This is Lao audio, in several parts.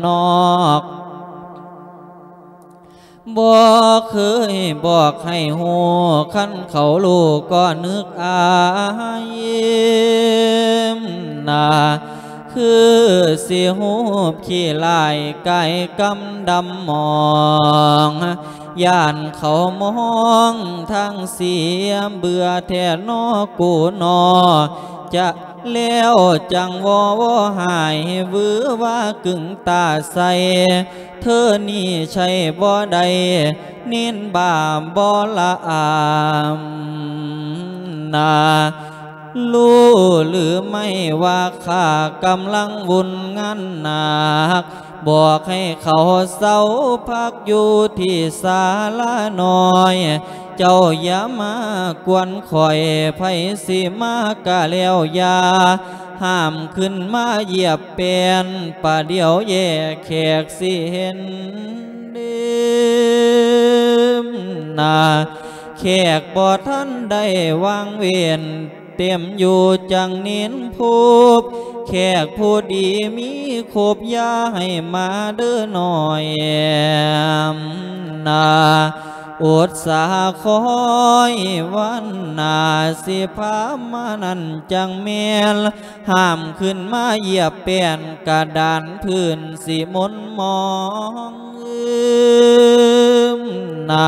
ນອກ ບໍ່ເຄີຍບອກໃຫ້ຮູ້ ຄັນເຂົາຮູ້ກໍນຶກອາຍນາ ຄືຊິຮູບຂີ້ຫຼາຍ ກາຍກຳດຳໝອງ ຢ້ານເຂົາມອງທາງເສຍ ເບື່ອແທ້ນໍກູນໍ ຈະ ແລ້ວຈັ່ງວໍວໍຫາຍ ວືຫວາກຶງຕາໃສ່ ເທື່ອນີ້ໃຊ້ບໍ່ໄດ້ ເນນບາບບໍ່ລະອາມນາ ຮູ້ຫຼືໄມ່ວ່າຂ້າກຳລັງວຸ່ນງານໜັກ ບອກໃຫ້ເຂົາເຊົາພັກຢູ່ທີ່ສາລານ້ອຍ ເຈົ້າຢ່າມາກວນຂ້ອຍ ໃຜຊິມາກະແລ້ວຢ່າ ຫ້າມຂຶ້ນມາຢຽບແປ້ນ ປະດຽວແຍກແຂກຊິເຫັນເດີມນາ ແຂກບໍ່ທັນໄດ້ວາງເວັ້ນ ເຕັມຢູ່ຈັ່ງເນນພົບ ແຂກຜູ້ດີມີຄົບ ຢ່າໃຫ້ມາເດີນ້ອຍນາ ອົດສາຄອຍວັນໜ້າ ຊິພາມານັ້ນຈັ່ງແມ່ນ ຫ້າມຂຶ້ນມາຢຽບແປ້ນ ກະດານພື້ນຊິມົນໝອງ ອືມນາ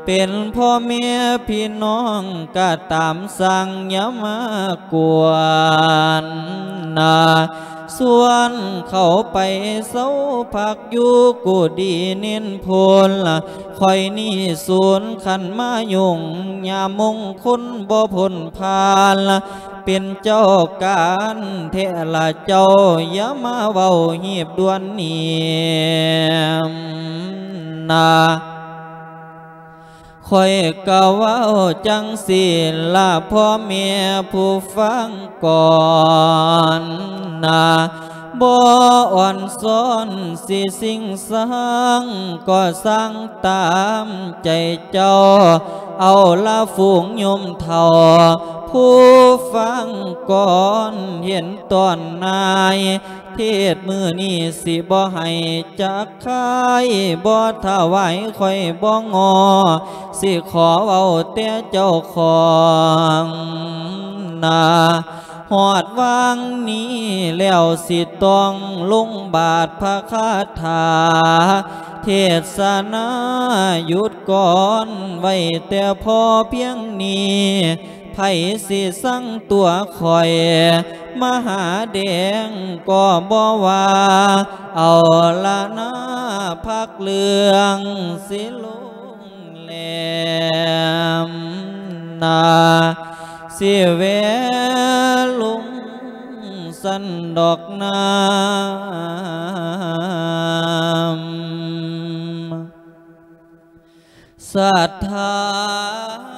ເປັນພໍ່ແມ່ພີ່ນ້ອງກະຕາມ ຊ່າງຢ່າມາກວນນາ ຊວນເຂົາໄປເຊົາພັກຢູ່ກຸດີເນນພົນ ຂ້ອຍນີ້ສູນຄັນມາຫຍຸ້ງ ຍາມມົງຄົນບໍ່ພົນຜ່ານ ເປັນເຈົ້າການແທ້ລະເຈົ້າ ຢ່າມາເວົ້າຮີບດ່ວນນີ້ນາ ຂ້ອຍກະເວົ້າຈັ່ງຊີ້ລະ ພໍ່ແມ່ຜູ້ຟັງກ່ອນນາ ບໍ່ອ່ອນຊ້ອນຊິຊິງສັງ ກໍຊ່າງຕາມໃຈເຈົ້າ ເອົາລະຝູງໂຍມເຖົ້າ ຜູ້ຟັງກ່ອນເຫັນຕອນນາຍ ເທດມື້ນີ້ຊິບໍ່ໃຫ້ຈັກຄາຍ ບໍ່ຖວາຍຂ້ອຍບໍ່ງໍ ຊິຂໍເວົ້າແຕ່ເຈົ້າຂອງນາ ຮອດວາງນີ້ແລ້ວຊິຕ້ອງລົງບາດພະຄາຖາ ເທດສະນາຢຸດກ່ອນໄວ້ແຕ່ພໍພຽງນີ້ ໃຜຊິຊັງຕົວຂ້ອຍ ມະຫາແດງກໍບໍ່ວ່າ ເອົາລະນາ ພັກເລື່ອງຊິລົງແຫຼມນາ ຊິແວະລົງຊັ້ນດອກນາ ສັດທາ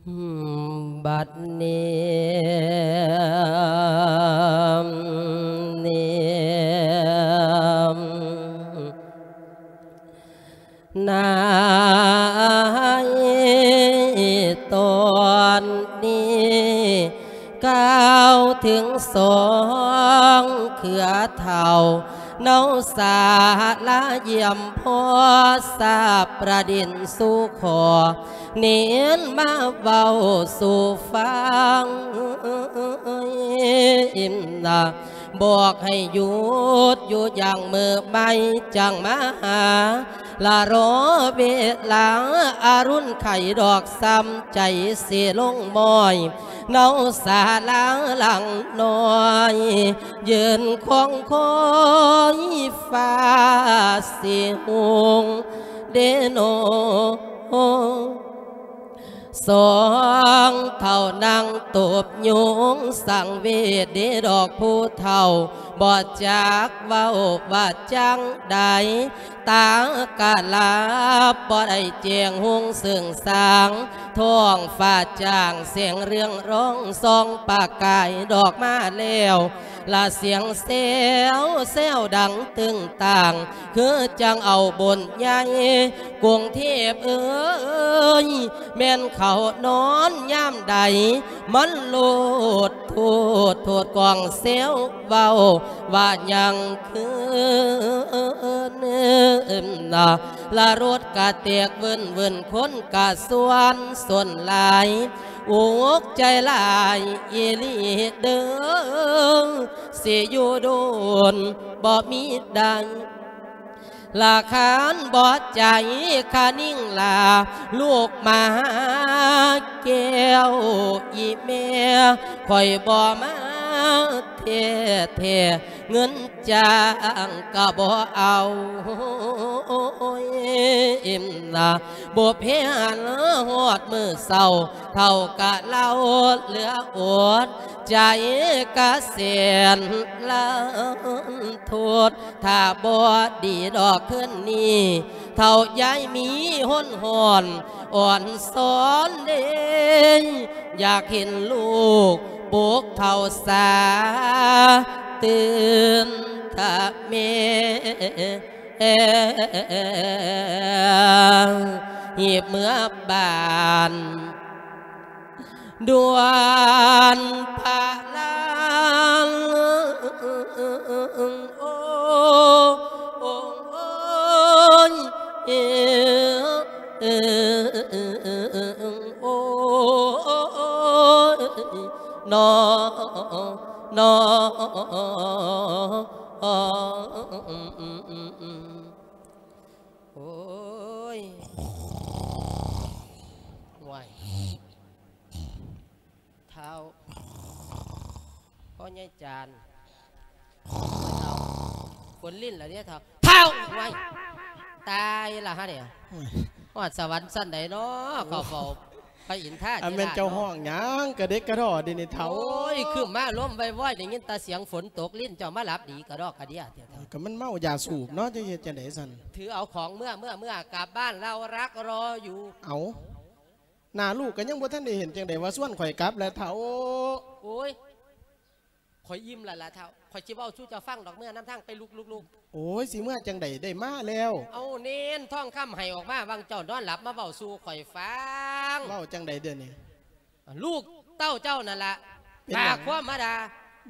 ໂຍມ ບັດນີ້ ໃນຕອນນີ້ ກ່າວເຖິງສອງເຄືອເຖົ້າ ເນົາສາລາຢ້ຽມພໍ່ ສາບປະດິນສູ່ຂໍ ເນນມາເວົ້າສູ່ຟັງ ນະ ບອກໃຫ້ຢຸດຢູ່ຢ່າງມື້ໃໝ່ຈັ່ງມາຫາ ລະລໍເວລາອາລຸນໄຂດອກຊ້ຳໃຈຊິລົງມ້ອຍ ເນົາສາລາຫຼັງນ້ອຍ ຢືນຄອງຄອຍຟ້າຊິຮຸ່ງເດໂນ. ສອງເຖົ້ານັ່ງຕົບຍຸງສັງເວດເດດອກຜູ້ເຖົ້າ ບໍ່ຈັກເວົ້າວ່າຈັ່ງໃດ ຕາກະຫຼັບບໍ່ໄດ້ແຈ້ງຮຸ່ງເຊິ່ງສາງ ທ້ອງຟ້າຈ້າງແສງເຮືອງຮອງສ່ອງປະກາຍດອກມາແລ້ວ ລະສຽງແຊວແຊວດັງຕຶງຕ່າງ ຄືຈັ່ງເອົາບຸນໃຫຍ່ ກຸງເທບເອີຍ ແມ່ນເຂົານອນຍາມໃດ ມັນໂລດໂທດໂທດກອງແຊວເວົ້າວ່າຍັງຄືນນະ ລະລົດກະແຕກເວີ້ນເວີ້ນ ຄົນກະສ່ວນສົນຫຼາຍ ອຸກໃຈຫຼາຍອີ່ຫຼີເດີ ຊິຢູ່ດົນບໍ່ມີໄດ້ ລະຄານບໍ່ໃຈຄະນິງລາ ລູກມາຫາແກ້ວອີ່ແມ່ ຂ້ອຍບໍ່ມາແທ້ໆ ເງິນຈ້າງກະບໍ່ເອົາ ບໍ່ແພ້ນຮອດມື້ເຊົ້າ ເຖົ້າກະເລົ່າເຫຼືອອົດ ໃຈກະແສນລະທົດ ຖ້າບໍ່ດີດອກຄືນນີ້ ເຖົ້າຢາຍມີຫົນຫອນອ່ອນສອນເດ ຢາກເຫັນລູກປຸກເຖົ້າສາຕື່ນທະເມ ຮີບເມືອບ້ານ ດ່ວນພະລາງ ໂອ້ ໂອ້ ໂອ້ຍ ເອີ ເອີ ໂອ້ຍ ນອ ນອ ໂອ້ຍ ໂອ້ຍ ທ້າວ ພໍ່ໃຫຍ່ຈານ ເຖົ້າ ຝົນລິນລະເດ້ທ້າວ ທ້າວ ໂອ້ຍ ຕາຍລະຫານີ້ ໂອ້ຍ ຮອດສະຫວັນຊັ້ນໃດເນາະ ເຂົ້າເຝົ້າພະອິນທາທິລາດເນາະ ອັນແມ່ນເຈົ້າຮ້ອງຫຍັງກະເດັກກະດໍ້ເດນີ້ເຖົ້າ ໂອ້ຍ ຄຶມມາລົມວອຍໆ ໄດ້ຍິນແຕ່ສຽງຝົນຕົກ ລິນເຈົ້າມາຫຼັບດີກະດອກກະເດຍແທ້ ກະມັນເມົາຢາສູບເນາະ ຈະເຮັດຈັ່ງໃດຊັ້ນ ຖືເອົາຂອງເມືອ ເມືອ ເມືອ ກັບບ້ານ ເຮົາຮັກລໍຢູ່ ເອົາ ໜ້າລູກກະຍັງບໍ່ທັນໄດ້ເຫັນ ຈັ່ງໃດວ່າຊວນຂ້ອຍກັບລະເຖົ້າ ໂອ້ຍ ຂ້ອຍອີ່ມລະລະເຖົ້າ ຂ້ອຍຊິເວົ້າສູ່ເຈົ້າຟັງດອກ ເມືອນຳທາງໄປ ລຸກໆໆ ໂອ້ຍ ຊິເມືອຈັ່ງໃດ ໄດ້ມາແລ້ວ ເອົາເນນທອງຄຳໃຫ້ອອກມາ ຫວ່າງເຈົ້ານອນຫຼັບ ມາເວົ້າສູ່ຂ້ອຍຟັງ ເວົ້າຈັ່ງໃດດຽວນີ້ ລູກເຕົ້າເຈົ້ານັ້ນລະ ເປັນຫຍັງ ປາກຄວາມມາດ່າ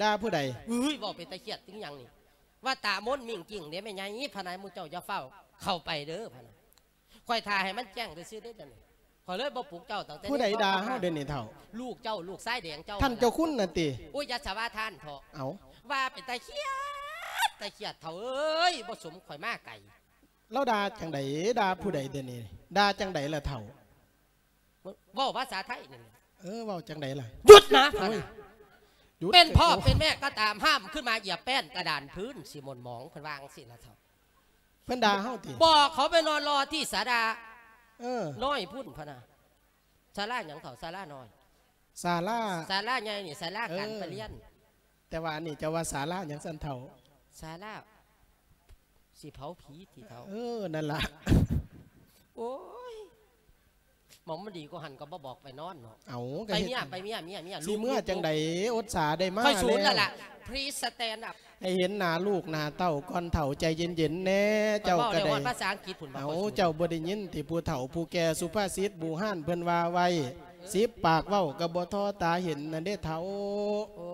ດ່າຜູ້ໃດ ເອີຍ ເວົ້າເປັນຕາຄຽດ ເປັນຫຍັງນີ້ ວ່າຕາມົນມິ້ງກິ້ງເດ້ແມ່ໃຫຍ່ ພະນາ ໝູ່ເຈົ້າຢ່າຟ້າວເຂົ້າໄປເດີ ພະນາ ຂ້ອຍຖ້າໃຫ້ມັນແຈ້ງຊື່ໆເດ້ດຽວນີ້ ຂ້ອຍເລີຍບໍ່ປຸກເຈົ້າຕັ້ງແຕ່ ຜູ້ໃດດ່າເຮົາດຽວນີ້ເຖົ້າ ລູກເຈົ້າ ລູກຊາຍແດງເຈົ້າ ທ່ານເຈົ້າຄຸນນັ້ນຕິ ໂອ້ຍ ຢ່າສະວ່າທ່ານເຖາະ ເອົ້າ ວ່າເປັນຕາຄຽດ ຕາຄຽດເຖົ້າເອີຍ ບໍ່ສົມຂ້ອຍມາໄກ ລາວດ່າຈັ່ງໃດ ດ່າຜູ້ໃດດຽວນີ້ ດ່າຈັ່ງໃດລະເຖົ້າ ເວົ້າພາສາໄທນີ້ ເອີ ເວົ້າຈັ່ງໃດລະ ຢຸດນະ ໂອ້ຍ ຢຸດ ເປັນພໍ່ເປັນແມ່ກໍຕາມ ຫ້າມຂຶ້ນມາຢຽບແປ້ນກະດານພື້ນ ຊິໝົນໝອງ ເພິ່ນວ່າຈັ່ງຊີ້ລະເຖົ້າ ເພິ່ນດ່າເຮົາຕິ ບອກເຂົາໄປນອນລໍທີ່ສາລາ ເອີ ນ້ອຍພຸ້ນພະນະ ສາລາຫຍັງເຖົ້າ ສາລານ້ອຍ ສາລາ ສາລາໃຫຍ່ນີ້ສາລາການປະລຽນ ເອີ ແຕ່ວ່າອັນນີ້ເຈົ້າວ່າສາລາຫຍັງຊັ້ນເຖົ້າ ສາລາຊິເຜົາຜີຕິເຖົ້າ ເອີ ນັ້ນລະ ໂອ້ຍ ໝ່ອງມັນດີກວ່າຫັ້ນກໍບໍ່ບອກໄປນອນເນາະ ເອົ້າ ໄປເມຍ ໄປເມຍ ເມຍ ເມຍ ຊິເມືອຈັ່ງໃດ ອົດສາໄດ້ມາ ຂ້ອຍສູນແລ້ວລະ ພລີສສະແຕນອັບ ໃຫ້ເຫັນໜ້າລູກໜ້າເຕົ້າກ່ອນເຖົ້າ ໃຈເຢັນໆແດ່ ເຈົ້າກໍໄດ້ ພາສາອັງກິດພຸ້ນ ເອົ້າ ເຈົ້າບໍ່ໄດ້ຍິນຕິ ຜູ້ເຖົ້າຜູ້ແກ່ສຸພາສິດບູຮານເພິ່ນວ່າໄວ້ ສິບປາກເວົ້າກໍບໍ່ທໍ້ຕາເຫັນນັ້ນເດ້ເຖົ້າ ໂອ້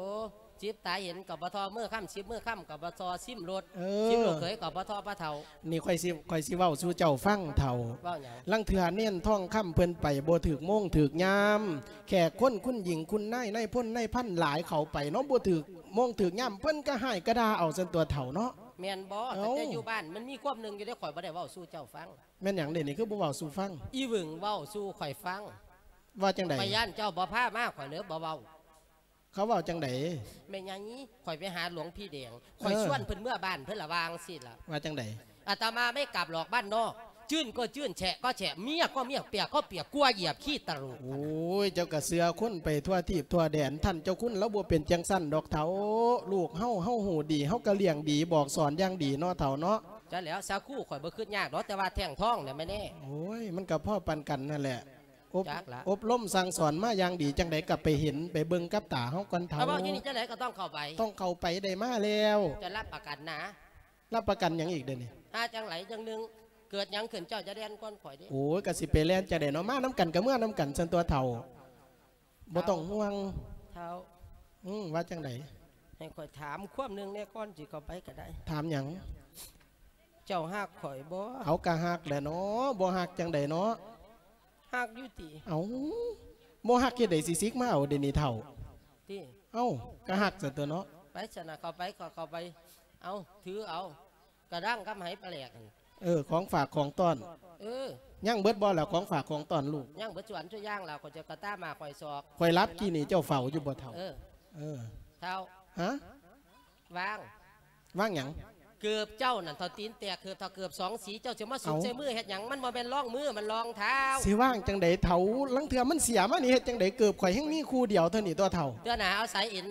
ສິບຕາເຫັນກໍບໍ່ທໍ່ມືຄຳ ສິບມືຄຳກໍບໍ່ທໍ່ຊິມລົດ ເອີ ສິບລູກເຂີຍກໍບໍ່ທໍ່ປາເຖົ້າ. ນີ້ຂ້ອຍຊິ ຂ້ອຍຊິເວົ້າສູ່ເຈົ້າຟັງເຖົ້າ. ເວົ້າຫຍັງ? ລາງເທື່ອເນນທອງຄຳເພິ່ນໄປບໍ່ຖືກໂມງຖືກຍາມ ແຂກຄົນ ຄຸນຍິງ ຄຸນນາຍ ນາຍພົນນາຍພັນຫຼາຍເຂົ້າໄປເນາະ ບໍ່ຖືກໂມງຖືກຍາມ ເພິ່ນກໍຮ້າຍກໍດ່າເອົາຊັ້ນຕົວະເຖົ້າເນາະ. ແມ່ນບໍ່? ເອົ້າ ຕັ້ງແຕ່ຢູ່ບ້ານມັນມີຄວາມໜຶ່ງຢູ່ເດ້ ຂ້ອຍບໍ່ໄດ້ເວົ້າສູ່ເຈົ້າຟັງ. ແມ່ນຫຍັງເດນີ້ ຄືບໍ່ເວົ້າສູ່ຟັງ? ອີຫວຶງເວົ້າສູ່ຂ້ອຍຟັງ. ວ່າຈັ່ງໃດ? ຂ້ອຍຢ້ານເຈົ້າບໍ່ພາມາ ຂ້ອຍເລີຍບໍ່ເວົ້າ. ເຂົາເວົ້າຈັ່ງໃດ? ແມ່ນຫຍັງ? ຂ້ອຍໄປຫາຫຼວງພີ່ແດງ ຂ້ອຍ ເອີ ຊວນເພິ່ນເມືອບ້ານເພິ່ນລະວ່າຈັ່ງຊີ້ລະ. ວ່າຈັ່ງໃດ? ອາດຕະມາໄມ່ກັບຫຼອກບ້ານນອກ ຈືນກໍຈືນ ແຊະກໍແຊະ ເມຍກໍເມຍ ປຽກກໍປຽກ ກົວຢຽບຂີ້ຕະໂຫຼກ. ໂອ້ຍ ເຈົ້າກະເຊື່ອຄົນໄປທົ່ວທີບທົ່ວແດນ ທ່ານເຈົ້າຄຸນລາວບໍ່ເປັນຈັ່ງຊັ້ນດອກເຖົ້າ. ລູກເຮົາ ເຮົາຮູ້ດີ ເຮົາກະລ້ຽງດີ ບອກສອນຢ່າງດີເນາະເຖົ້າເນາະ. ຈັ່ງແລ້ວ ສາຄູຂ້ອຍບໍ່ຄຶດຍາກດອກ ແຕ່ວ່າແທ່ງທອງນະແມ່ແນ່. ໂອ້ຍ ມັນກະພໍ້ປານກັນຫັ້ນແຫຼະ. ອົບ ຈັກລະ ອົບຮົມສັ່ງສອນມາຢ່າງດີ ຈັ່ງໃດກໍໄປເຫັນໄປເບິ່ງກັບຕາເຮົາກ່ອນເຖົ້າ. ເອົາ ເວົ້າຢູ່ນີ້ຈັ່ງໃດກໍຕ້ອງເຂົ້າໄປ. ຕ້ອງເຂົ້າໄປ ໄດ້ມາແລ້ວ. ຈະຮັບປະກັນນະ. ຮັບປະກັນຫຍັງອີກເດນີ້? ຖ້າຈັ່ງໃດຈັ່ງໜຶ່ງ ເກີດຫຍັງຂຶ້ນເຈົ້າຈະແລ່ນກ່ອນຂ້ອຍເດ້. ໂອ້ຍ ກະຊິໄປແລ່ນຈັ່ງໃດເນາະ ມານຳກັນກະເມືອນຳກັນຊັ້ນຕົວະເຖົ້າ. ບໍ່ຕ້ອງຫ່ວງເຖົ້າ. ອືມ ວ່າຈັ່ງໃດ? ໃຫ້ຂ້ອຍຖາມຄວາມໜຶ່ງແດ່ ກ່ອນຊິເຂົ້າໄປກໍໄດ້. ຖາມຫຍັງ? ເຈົ້າຮັກຂ້ອຍບໍ່? ເອົາ ກະຮັກແຫຼະເນາະ ບໍ່ຮັກຈັ່ງໃດເນາະ. ຮັກຢູ່ຕິ? ເອົາ ບໍ່ຮັກເຮັດໃດຊິສິກມາເອົາເດນີ້ເຖົ້າ. ຕິ? ເອົາ ກະຮັກຊັ້ນຕົວະເນາະ. ໄປຊັ້ນນະ ເຂົ້າໄປ ເຂົ້າ ເຂົ້າໄປ. ເອົາ ຖືເອົາ ກະດັງກັບໄຫປາແຫຼກຫັ້ນ. ເອີ ຂອງຝາກຂອງຕ້ອນ. ເອີ ຍັງເບິດບໍ່ລະ ຂອງຝາກຂອງຕ້ອນລູກ? ຍັງເບິດສ່ວນສູ່ຢ່າງລະ ຂ້ອຍຈະກະຕາມາຂ້ອຍສອກ. ຂ້ອຍຫຼັບກີ້ນີ້ເຈົ້າເຝົ້າຢູ່ບໍ່ເຖົ້າ? ເອີ ເອີ ເຖົ້າ. ຮະ? ວາງ ວາງຫຍັງ? ເກີບເຈົ້ານັ້ນເຖົ້າ ຕີນແຕກເກີບເຖົ້າ ເກີບສອງສີ ເຈົ້າຊິມາສຸກໃສ່ມືເຮັດຫຍັງ? ມັນບໍ່ແມ່ນລອງມື ມັນລອງເທົ້າ. ຊິວາງຈັ່ງໃດເຖົ້າ? ລາງເທື່ອມັນເສຍມານີ້ເຮັດຈັ່ງໃດ? ເກີບຂ້ອຍແຮ່ງມີຄູ່ດຽວເທົ່ານີ້ຕົວະເຖົ້າ. ເທື່ອໜ້າເອົາສາຍເອັນ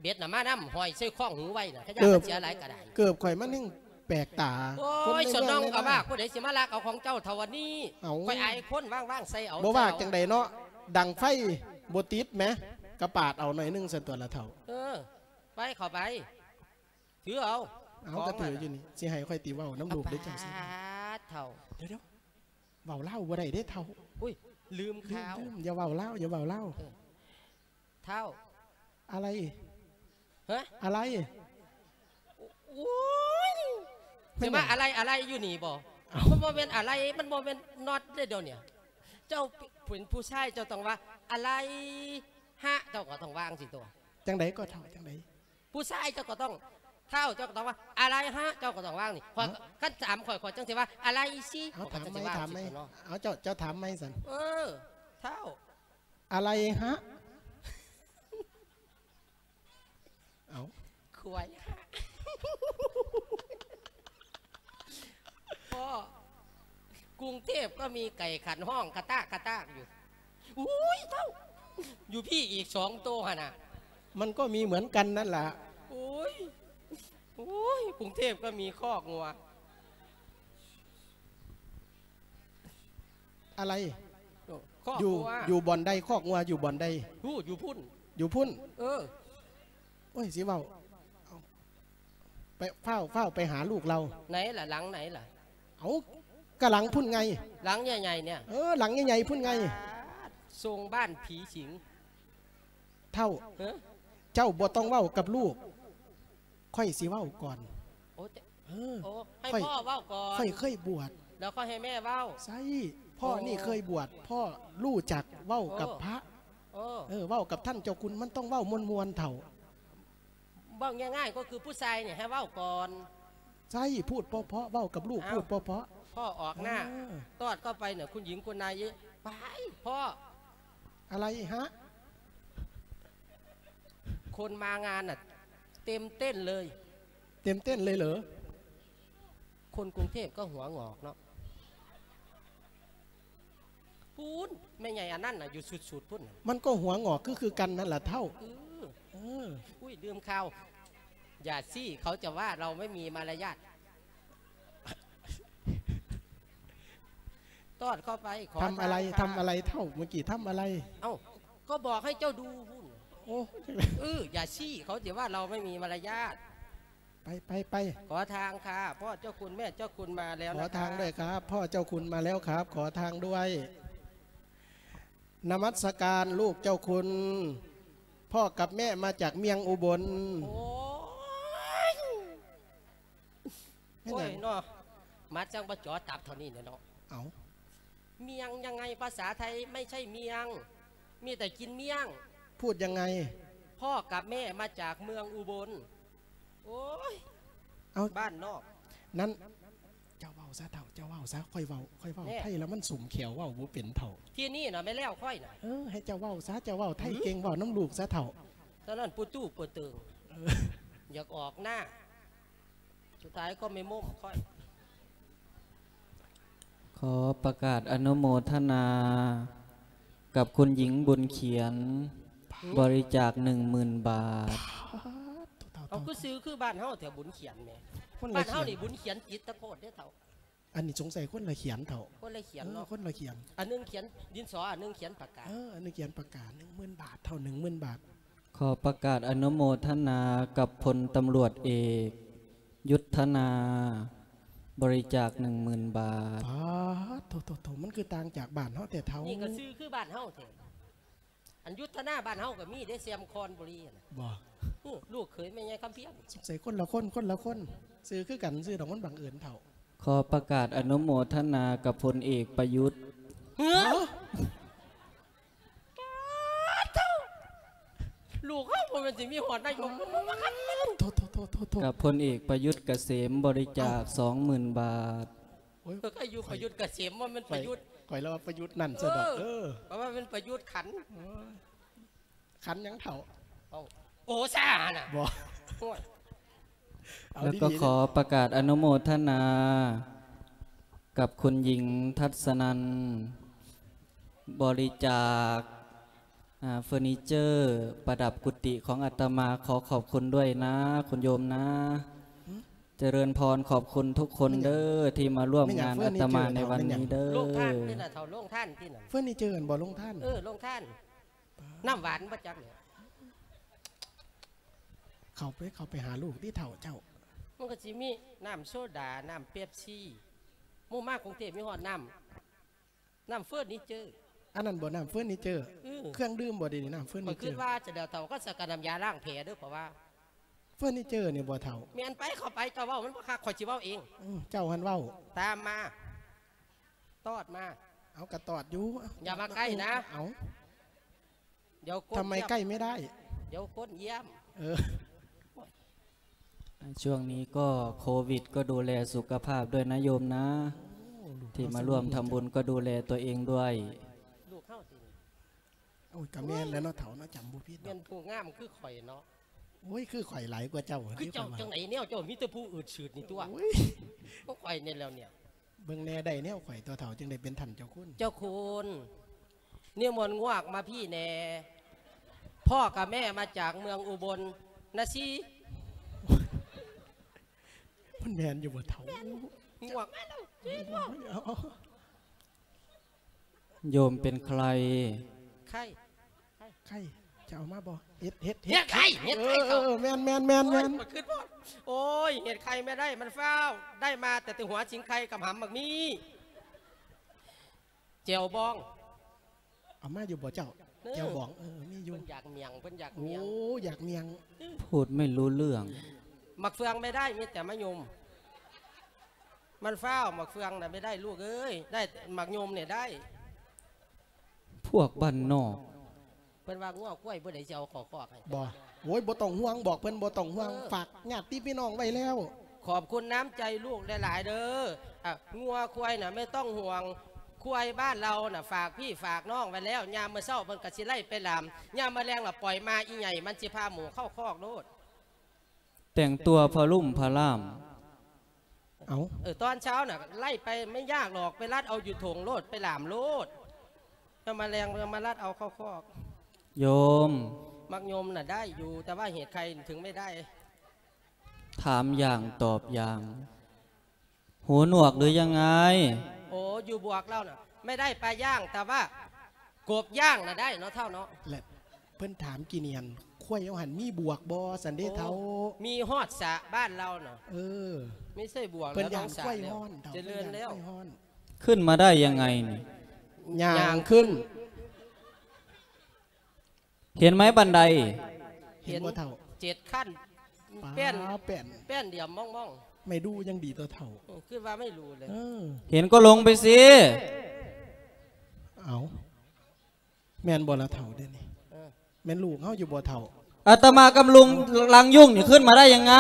ເບັດນະມານຳ ຫ້ອຍໃສ່ຄອງຫູໄວ້ນະ ຂະຍານມັນເສຍຫຼາຍກະໄດ້. ເກີບຂ້ອຍມັນແຮ່ງແປກຕາ. ໂອ້ຍ ສະໜອງກະວາກ ຜູ້ໃດຊິມາລັກເອົາຂອງເຈົ້າເທົ່າອັນນີ້? ເອົ້າ ຂ້ອຍອາຍຄົນ ວາງໆໃສ່ເອົາ. ບໍ່ວາກຈັ່ງໃດເນາະ ດັງໄຟບໍ່ຕິດແໝ ກະປາດເອົາໜ້ອຍໜຶ່ງຊັ້ນຕົວະລະເຖົ້າ. ເອີ ໄປ ເຂົ້າໄປ. ຖືເອົາ ເອົາ ຂອງ ກະຖືຢູ່ນີ້ ຊິໃຫ້ຂ້ອຍຕິເວົ້ານຳລູກໄດ້ຈັ່ງຊີ້. ປາດເຖົ້າ. ດຽວໆ ເວົ້າລາວບໍ່ໄດ້ເດ້ເຖົ້າ. ອຸ້ຍ ລືມຂ່າວ ລືມ ລືມ ຢ່າເວົ້າລາວ ຢ່າເວົ້າລາວ. ເອີ ເຖົ້າ. ອະໄລ? ຮະ? ອະໄລ? ໂອ້ຍ ແມ່ນຫຍັງ? ຊິມາອະໄລ ອະໄລຢູ່ນີ້ບໍ່? ເອົ້າ ມັນບໍ່ແມ່ນອະໄລ ມັນບໍ່ແມ່ນນັອດເດ້ດຽວນີ້. ເຈົ້າເປັນຜູ້ຊາຍ ເຈົ້າຕ້ອງວ່າ ອະໄລຮະ ເຈົ້າກໍຕ້ອງວ່າຈັ່ງຊີ້ຕົວະ. ຈັ່ງໃດກໍເຖົ້າ ຈັ່ງໃດ? ຜູ້ຊາຍເຈົ້າກໍຕ້ອງ ເຖົ້າ ເຈົ້າກໍຕ້ອງວ່າ ອະໄລຮະ ເຈົ້າກໍຕ້ອງວ່ານີ້. ເອົ້າ ຄັນຖາມຂ້ອຍ ຂ້ອຍຈັ່ງຊິວ່າ ອະໄລຊິ. ເອົາ ຂ້ອຍກໍຈັ່ງຊິວ່າ ຖາມໃໝ່ ຊິເນາະ. ເອົາ ເຈົ້າ ເຈົ້າຖາມໃໝ່ຊັ້ນ. ເອີ ເຖົ້າ. ອະໄລຮະ? ເອົ້າ ຄວາຍຮະ. ພໍ່ ກຸງເທບກໍມີໄກ່ຂັນຮ້ອງກະຕາກກະຕາກຢູ່. ໂອ້ຍ ເຖົ້າ ຢູ່ພີ້ອີກສອງໂຕຫັ້ນນະ. ມັນກໍມີເໝືອນກັນນັ້ນລະ. ໂອ້ຍ ໂອ້ຍ ກຸງເທບກໍມີຄອກງົວ. ອະໄລ? ໂອ້ ຄອກ ຢູ່ ງົວ ຢູ່ບ່ອນໃດ? ຄອກງົວຢູ່ບ່ອນໃດ? ຮູ້ ຢູ່ພຸ້ນ ຢູ່ພຸ້ນ. ເອີ ໂອ້ຍ ຊິເວົ້າ ເອົາ ໄປ ຟ້າວ ຟ້າວໄປຫາລູກລາວ. ໃນລະ? ຫຼັງໃນລະ? ເອົາ ກະຫຼັງພຸ້ນໄງ ຫຼັງໃຫຍ່ໆ ນີ້. ເອີ ຫຼັງໃຫຍ່ໆ ພຸ້ນໄງ. ສົ່ງບ້ານຜີສິງ. ເຖົ້າ ເອີ ເຈົ້າບໍ່ຕ້ອງເວົ້າກັບລູກ ຂ້ອຍຊິເວົ້າກ່ອນ. ໂອ້ ເອີ ໂອ້ ໃຫ້ ຂ້ອຍ ພໍ່ເວົ້າກ່ອນ ຂ້ອຍເຄີຍບວດ ແລ້ວຄ່ອຍໃຫ້ແມ່ເວົ້າ. ໃຊ່ ພໍ່ ອໍ ນີ້ເຄີຍບວດ ພໍ່ຮູ້ຈັກເວົ້າກັບ ໂອ້ ພະ. ອໍ ເອີ ເວົ້າກັບທ່ານເຈົ້າຄຸນ ມັນຕ້ອງເວົ້າມ່ວນໆ ເຖົ້າ. ເວົ້າງ່າຍໆ ກໍຄືຜູ້ຊາຍນີ້ໃຫ້ເວົ້າກ່ອນ. ໃຊ່ ພູດເພາະໆ ເວົ້າກັບລູກ ເອົ້າ ພູດເພາະໆ. ພໍ່ອອກໜ້າ ເອີ ຕອດເຂົ້າໄປນະ ຄຸນຍິງຄຸນນາຍ ໄປ ພໍ່. ອະໄລຮະ? ຄົນມາງານນະ ເຕັມເຕັ້ນເລີຍ. ເຕັມເຕັ້ນເລີຍເຫຼື? ຄົນກຸງເທບກໍຫົວງອກເນາະ. ພຸ້ນ ແມ່ໃຫຍ່ອັນນັ້ນນະ ຢູ່ສຸດໆ ພຸ້ນນະ. ມັນກໍຫົວງອກຄື ຄືກັນນັ້ນລະເຖົ້າ. ເອີ ເອີ ອຸ້ຍ ລືມຂ່າວ ຢ່າຊີ້ ເຂົາຈະວ່າເຮົາໄມ່ມີມາລະຍາດ. ຕອດເຂົ້າໄປ ຂໍ ທຳອະໄລ ທາງ ທຳອະໄລເຖົ້າ? ເມື່ອກີ້ທຳອະໄລ? ເອົ້າ ກໍບອກໃຫ້ເຈົ້າດູພຸ້ນ. ໂອ້ ເອີ ຢ່າຊີ້ ເຂົາຈະວ່າເຮົາໄມ່ມີມາລະຍາດ. ໄປ ໄປ ໄປ ຂໍທາງຄ່າ ພໍ່ເຈົ້າຄຸນແມ່ເຈົ້າຄຸນມາແລ້ວນະ ຂໍທາງດ້ວຍຄັບ ພໍ່ເຈົ້າຄຸນມາແລ້ວຄັບ ຂໍທາງດ້ວຍ. ນະມັດສະການລູກເຈົ້າຄຸນ. ພໍ່ກັບແມ່ມາຈາກເມືອງອຸບົນ. ໂອ້ຍ ແມ່ນຫຍັງ? ໂອ້ຍເນາະ ມາຈັ່ງບໍ່ຈໍຕັບເທົ່ານີ້ແຫຼະເນາະ. ເອົ້າ ເມືອງຍັງໄງ? ພາສາໄທໄມ່ໃຊ່ເມືອງ ມີແຕ່ກິນເມືອງ. ພູດຍັງໄງ? ພໍ່ກັບແມ່ມາຈາກເມືອງອຸບົນ. ໂອ້ຍ ເອົ້າ ບ້ານນອກ ນັ້ນ ເຈົ້າເວົ້າຊະເຖົ້າ ເຈົ້າເວົ້າຊະ. ຂ້ອຍເວົ້າ ຂ້ອຍເວົ້າ ແນ່ ໄທແລ້ວມັນສຸມແຂວ ເວົ້າບໍ່ເປັນເຖົ້າ. ທີ່ນີ້ນະແມ່ນແລ້ວຂ້ອຍນະ. ເອີ ໃຫ້ເຈົ້າເວົ້າຊະ ເຈົ້າເວົ້າໄທເກັ່ງ ຫື ເວົ້ານຳລູກຊະເຖົ້າ. ຕອນນັ້ນປູຕູ້ຕູ້ເປີດເຕີງ ເອີ ຢາກອອກໜ້າ ສຸດທ້າຍກໍໄມ່ມົ້ມຂ້ອຍ. ຂໍປະກາດອະນຸໂມທະນາກັບຄຸນຍິງບຸນຂຽນ ບາດ ບໍລິຈາກໜຶ່ງໝື່ນບາດ. ເອົາ ຄືຊື່ຄືບ້ານເຮົາແທ້ ບຸນຂຽນແໝ. ຄົນລະຂຽນ ບ້ານເຮົານີ້ບຸນຂຽນຈິດຕະໂຄດເດ້ເຖົ້າ. ອັນນີ້ສົງໄສຄົນລະຂຽນເຖົ້າ. ຄົນລະຂຽນເນາະ ເອີ ຄົນລະຂຽນ. ອັນໜຶ່ງຂຽນດິນສອ ອັນໜຶ່ງຂຽນປາກກາ. ເອີ ອັນໜຶ່ງຂຽນປາກກາ ໜຶ່ງໝື່ນບາດເຖົ້າ ໜຶ່ງໝື່ນບາດ. ຂໍປະກາດອະນຸໂມທະນາກັບພົນຕຳຫຼວດເອກ ຍຸດທະນາ ບໍລິຈາກໜຶ່ງໝື່ນບາດ. ປາດ ໂທ້ໆໆ ມັນຄືຕ່າງຈາກບ້ານເຮົາແທ້ເຖົ້າ. ນີ້ກໍຊື່ຄືບ້ານເຮົາແທ້. ອັນຍຸດທະນາບ້ານເຮົາກໍມີເດ້ ແຊມຄອນບຸຣີຫັ້ນນະ. ບໍ່ ອື ລູກເຂີຍແມ່ໃຫຍ່ຄຳພຽງ. ສົງໄສຄົນລະຄົນ ຄົນລະຄົນ ຊື່ຄືກັນຊື່ດອກ ມັນບັງເອີນເຖົ້າ. ຂໍປະກາດອະນຸໂມທະນາກັບພົນເອກປະຍຸດ. ເອີ ລູກເຮົາບໍ່ແມ່ນຊິມີຮອດນາຍົກ. ໂທ້ໆໆໆໆ ກັບພົນເອກປະຍຸດກະເສມ ບໍລິຈາກສອງໝື່ນບາດ. ໂອ້ຍ ເອີ ກໍຢູ່ປະຍຸດກະເສມ ວ່າແມ່ນປະຍຸດ. ຂ້ອຍລະວ່າປະຍຸດນັ້ນຊະດອກ. ເອີ ເອີ ກໍວ່າແມ່ນປະຍຸດຂັນ. ໂອ້ຍ ຂັນຫຍັງເຖົ້າ? ເອົ້າ ໂອຊາຫັ້ນນະ. ບໍ່ ໂອ້ຍ ເອົາ ແລ້ວກໍ ດີໆ ຂໍປະກາດອະນຸໂມທະນາກັບຄຸນຍິງ ທັດສະນັນ ບໍລິຈາກ ອາ ເຟີນີເຈີປະດັບກຸຕິຂອງອາດຕະມາ. ຂໍຂອບຄຸນດ້ວຍນະ ຄຸນໂຍມນະ. ຫື? ຈະເລີນພອນ ຂອບຄຸນທຸກຄົນເດີ ທີ່ມາຮ່ວມງານອາດຕະມາໃນວັນນີ້ເດີ. ໂລງທານຕິນະເຖົ້າ ໂລງທານຕິນະ. ເຟີນີເຈີຫັ້ນບໍ່ ໂລງທານ? ເອີ ໂລງທານ. ນ້ຳຫວານບໍ່ຈັກແຫຼະ. ເຂົ້າໄປ ເຂົ້າໄປຫາລູກຕິເຖົ້າເຈົ້າ. ມັນກໍຊິມີນ້ຳໂຊດາ ນ້ຳເປັບຊີ. ໝູ່ມາກຸງເທບມີຮອດນ້ຳ ນ້ຳເຟີນີເຈີ. ອັນນັ້ນບໍ່ ນ້ຳເຟີນີເຈີ? ເອີ ເຄື່ອງດື່ມບໍ່ ດຽວນີ້ນ້ຳເຟີນີເຈີ. ຂ້ອຍຄິດວ່າຈະແລ້ວເຖົ້າ ກໍສະກະນ້ຳຢາລ້າງແຜເດີ ເພາະວ່າເຟີນີເຈີນີ້ບໍ່ເຖົ້າ? ແມ່ນໄປ ເຂົ້າໄປ ເຈົ້າເວົ້າມັນບໍ່ຄັກ ຂ້ອຍຊິເວົ້າເອງ. ເອີ ເຈົ້າຫັ້ນເວົ້າ. ຕາມມາ ຕອດມາ. ເອົາ ກະຕອດຢູ່. ຢ່າມາໃກ້ນະ. ເອົາ ດຽວກົ້ນ ທຳໄມໃກ້ໄມ່ໄດ້? ດຽວກົ້ນຢ້ຽມ. ເອີ ຊ່ວງນີ້ກໍໂຄວິດ ກໍດູແລສຸຂະພາບດ້ວຍນະໂຍມນະ. ໂອ້ ລູກ ທີ່ມາຮ່ວມທຳບຸນກໍດູແລຕົວເອງດ້ວຍ. ລູກເຮົາຕິ? ໂອ້ຍ ກະແມ່ນແລ້ວເນາະເຖົ້າເນາະ ຈຳບໍ່ຜິດດອກ. ແມ່ນຜູ້ງາມຄືຂ້ອຍເນາະ. ໂອ້ຍ ຄືຂ້ອຍຫຼາຍກວ່າເຈົ້າ. ຄືເຈົ້າຈັ່ງໃດແນວ ເຈົ້າມີແຕ່ຜູ້ອືດຊືດນີ້ຕົວະ. ໂອ້ຍ ກໍຂ້ອຍນີ້ແລ້ວເນຍ. ເບິ່ງແດ່ ໄດ້ແນວຂ້ອຍຕົວະເຖົ້າ ຈຶ່ງໄດ້ເປັນທ່ານເຈົ້າຄຸນ. ເຈົ້າຄຸນ ນິມົນງວກມາພີ້ແດ່. ພໍ່ກັບແມ່ມາຈາກເມືອງອຸບົນນະຊີ. ມັນແມ່ນຢູ່ບໍ່ເຖົ້າ? ແມ່ນ. ງວກມາແລ້ວ. ໂຍມເປັນໃຄ? ໃຄ ໃຄ ຈະເອົາມາບໍ່? ເຫັດ ເຫັດ ເຫັດ ເຫັດໄຄ ເຫັດໄຄ. ເອີ ເອີ ເອີ ແມ່ນ ແມ່ນ ແມ່ນ ໂອ້ຍ ແມ່ນ. ບໍ່ຄິດບໍ່ ໂອ້ຍ ເຫັດໄຄແມ່ໄດ້ ມັນຟ້າວໄດ້ມາແຕ່ ແຕ່ຫົວສິງໄຄ ກຳຫຳໝາກມີ້ ແຈ່ວບອງ. ເອົາມາຢູ່ບໍ່ເຈົ້າ? ເອີ ແຈ່ວບອງ. ເອີ ມີຢູ່. ເພິ່ນຢາກໝຽງ ເພິ່ນຢາກໝຽງ. ໂອ້ ຢາກໝຽງ. ເອີ ພູດໄມ່ຮູ້ເລື່ອງ. ໝາກເຟືອງແມ່ໄດ້ ມີແຕ່ມະຍົມ. ມັນຟ້າວ ໝາກເຟືອງນະແມ່ໄດ້ ລູກເອີຍ ໄດ້ໝາກຍົມນີ້ໄດ້. ພວກບ້ານນອກ. ເພິ່ນວ່າງົວຄວາຍຜູ້ໃດຊິເອົາເຂົ້າຄອກໃຫ້? ບໍ່ ໂອ້ຍ ບໍ່ຕ້ອງຫ່ວງ ບອກເພິ່ນບໍ່ຕ້ອງຫ່ວງ. ເອີ ຝາກຍາດຕິພີ່ນ້ອງໄວ້ແລ້ວ. ຂອບຄຸນນ້ຳໃຈລູກຫຼາຍໆເດີ. ອາ ງົວຄວາຍນະໄມ່ຕ້ອງຫ່ວງ ຄວາຍບ້ານເຮົານະ ຝາກພີ່ຝາກນ້ອງໄວ້ແລ້ວ. ຍາມມື້ເຊົ້າເພິ່ນກະຊິໄລ່ໄປລາມ ຍາມມື້ແລງລະປ່ອຍມາອີ່ໃຫຍ່ ມັນຊິພາໝູເຂົ້າຄອກໂລດ. ແຕ່ງຕົວພະລຸ່ມພະລ່າມ. ເອົ້າ ເອີ ຕອນເຊົ້ານະ ໄລ່ໄປໄມ່ຍາກດອກ ໄປລັດເອົາຢູ່ຖົງໂລດ ໄປຫຼາມໂລດ. ຍາມມາແລງມາລັດເອົາເຂົ້າຄອກ. ໂຍມ ໝາກຍົມນະໄດ້ຢູ່ ແຕ່ວ່າເຫດໄຄເຖິງໄມ່ໄດ້. ຖາມຢ່າງຕອບຢ່າງ. หูໜວກຫຼືຍັງໄງ? ໂອ້ ຢູ່ບວກເຮົານະ ແມ່ໄດ້ປາຍ່າງ ແຕ່ວ່າກົບຍ່າງນະໄດ້ເນາະເຖົ້າເນາະ. ແລະເພິ່ນຖາມກີ່ນຽນ ຄວາຍເຮົາຫັ້ນມີບວກບໍ່ ຊັ້ນເດ້ເຖົ້າ? ໂອ້ ມີຮອດສະ ບ້ານເຮົານະ. ເອີ ມີໃສ່ບວກ. ເພິ່ນຢ້ານຄວາຍຮ້ອນເຖົ້າ. ຈະເລີນແລ້ວ. ຂຶ້ນມາໄດ້ຍັງໄງນີ້? ຍ່າງຂຶ້ນ. ເຫັນໄໝບັນໄດ? ເຫັນບໍ່ເຖົ້າ? ເຈັດຂັ້ນ ປ້າ ແປ້ນ ແປ້ນ ແປ້ນດຽວມອງໆ ໄມ້ດູຍັງດີກວ່າເຖົ້າ ເອີ ຄືວ່າໄມ້ດູເລີຍ ເອີ ເຫັນກໍລົງໄປຊິ. ເອົ້າ ແມ່ນບໍ່ລະເຖົ້າ ດຽວນີ້ ເອີ ແມ່ນລູກເຮົາຢູ່ບໍ່ເຖົ້າ? ອາດຕະມາກຳລັງລັງຍຸງນີ້ຂຶ້ນມາໄດ້ຍັງໄງ?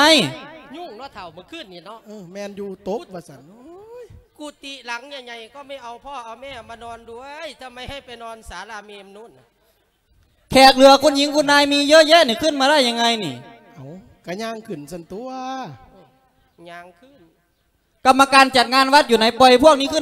ຍຸງເນາະເຖົ້າ ມື້ຄືນນີ້ເນາະ ເອີ ແມ່ນຢູ່ ຕົກວ່າຊັ້ນ. ໂອ້ຍ ກຸຕິຫຼັງໃຫຍ່ໆ ກໍໄມ່ເອົາພໍ່ເອົາແມ່ມານອນດ້ວຍ ທຳໄມໃຫ້ໄປນອນສາລາເມມນູ້ນ? ແຂກເຫຼືອຄຸນຍິງຄຸນນາຍມີເຍອະແຍະນີ້ ຂຶ້ນມາໄດ້ຍັງໄງນີ້? ເອົ້າ ກະຍ່າງຂຶ້ນຊັ້ນຕົວະ ຍ່າງຂຶ້ນ. ກຳມະການຈັດງານວັດຢູ່ໃນ? ປ່ອຍພວກນີ້ຂຶ້ນ